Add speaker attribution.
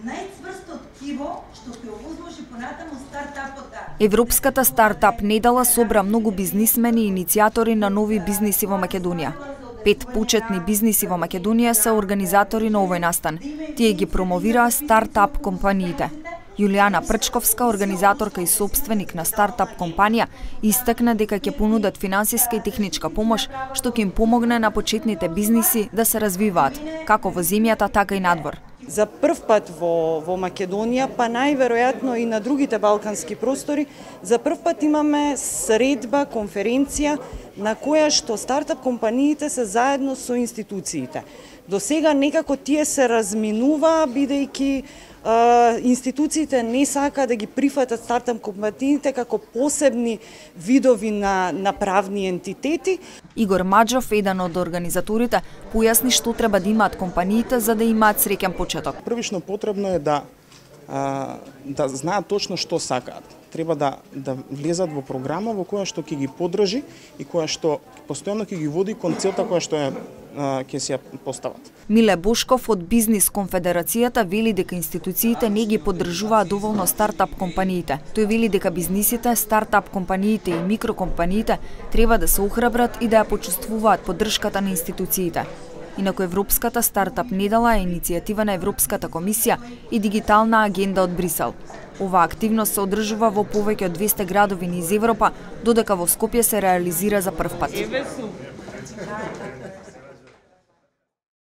Speaker 1: најцврсто ткиво што ќе овозможи понатаму стартапот да.
Speaker 2: Европската стартап недела собра многу бизнисмени и иницијатори на нови бизниси во Македонија. 5 почетни бизниси во Македонија се организатори на овој настан. Тие ги промовираа стартап компаниите. Јулијана Прчковска, организаторка и собственик на стартап компанија, истакна дека ќе понудат финансиска и техничка помош што ќе им помогне на почетните бизниси да се развиваат, како во земјата, така и надвор.
Speaker 3: За прв пат во Македонија, па најверојатно и на другите балкански простори, за прв пат имаме средба, конференција на која што стартап компаниите се заедно со институциите. До сега некако тие се разминува, бидејќи институциите не сака да ги прифатат стартап компаниите како посебни видови на правни ентитети.
Speaker 2: Игор Маџов, еден од организаторите, појасни што треба да имаат компаниите за да имаат среќен почеток.
Speaker 4: Првично потребно е да знаат точно што сакаат. Треба да влезат во програма во која што ќе ги поддржи и која што постојано ќе ги води кон целта која што ќе си ја постават.
Speaker 2: Миле Бошков од Бизнис конфедерацијата вели дека институциите не ги поддржуваат доволно стартап компаниите. Тој вели дека бизнисите, стартап компаниите и микрокомпаниите треба да се охрабрат и да ја почувствуваат поддршката на институциите. Инаку Европската стартап недела е иницијатива на Европската комисија и дигитална агенда од Брисел. Ова активност се одржува во повеќе од 200 градови низ Европа, додека во Скопје се реализира за прв пат.